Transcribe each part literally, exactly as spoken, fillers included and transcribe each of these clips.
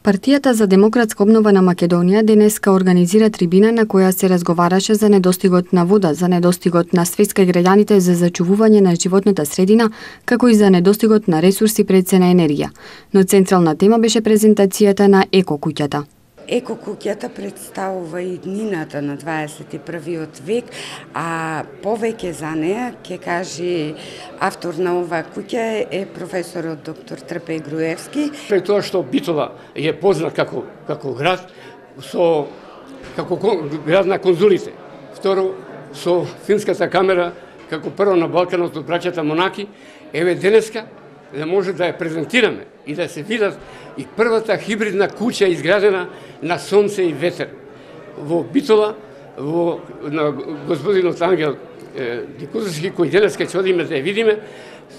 Партијата за демократска обнова на Македонија денеска организира трибина на која се разговараше за недостигот на вода, за недостигот на свест кај граѓаните за зачувување на животната средина, како и за недостигот на ресурси пред се на енергија. Но централна тема беше презентацијата на Еко куќата. Еко куќата представува иднината на дваесет и првиот век, а повеќе за неа ќе каже автор на оваа куќа е професорот доктор Трпеј Груевски. Пред тоа што Битола е познат како како град со како град на конзулите. Второ, со финската камера како прво на Балканот од браќата монаки, еве денеска да може да ја презентираме и да се видат и првата хибридна куќа изградена на сонце и ветер. Во Битола, во на господинот Ангел Дикузовски, кој денеска ќе одиме да ја видиме,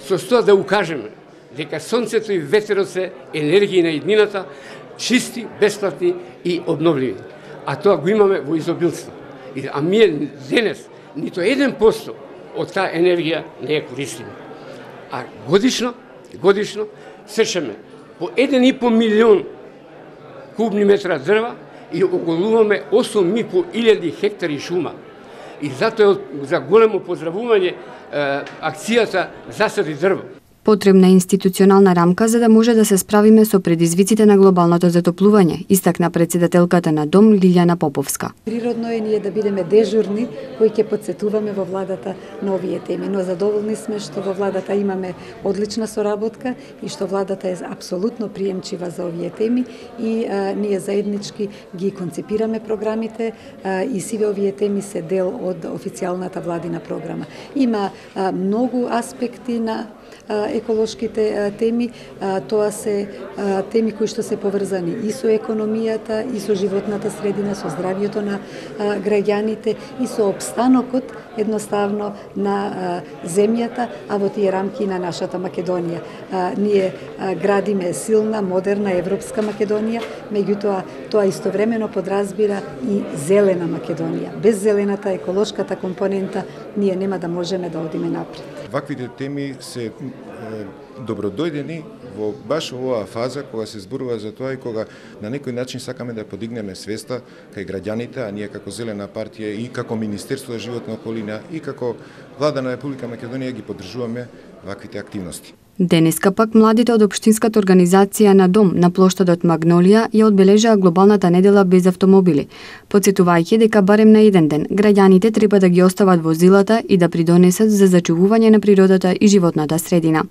со тоа да укажеме дека сонцето и ветерот се енергии на иднината, чисти, бесплатни и обновливи. А тоа го имаме во изобилство. А ние денес нито еден посто од таа енергија не ја користиме. А годишно, годишно сечеме по еден и по милион кубни метра дрва и оголуваме осум и по илјади хектари шума. И затоа за големо поздравување акцијата Засади дрво. Потребна е институционална рамка за да може да се справиме со предизвиците на глобалното затоплување, истакна председателката на Дом Лилјана Поповска. Природно е ние да бидеме дежурни кои ќе подсетуваме во владата на овие теми, но задоволни сме што во владата имаме одлична соработка и што владата е апсолутно приемчива за овие теми и а, ние заеднички ги концепираме програмите а, и сиве овие теми се дел од официјалната владина програма. Има а, многу аспекти на еколошките теми, тоа се теми кои што се поврзани и со економијата, и со животната средина, со здравјето на граѓаните и со обстанокот едноставно на земјата, а во тие рамки на нашата Македонија. Ние градиме силна, модерна, европска Македонија, меѓутоа тоа истовремено подразбира и зелена Македонија. Без зелената еколошката компонента ние нема да можеме да одиме напред. Ваквите теми се добродојдени во баш оваа фаза кога се зборува за тоа и кога на некој начин сакаме да подигнеме свеста кај граѓаните, а ние како Зелена партија и како Министерство за животна околина и како Влада на Република Македонија ги поддржуваме ваквите активности. Денеска пак младите од општинската организација на Дом на плоштадот Магнолија ја одбележаа глобалната недела без автомобили, потсетувајќи дека барем на еден ден граѓаните треба да ги остават возилата и да придонесат за зачувување на природата и животната средина.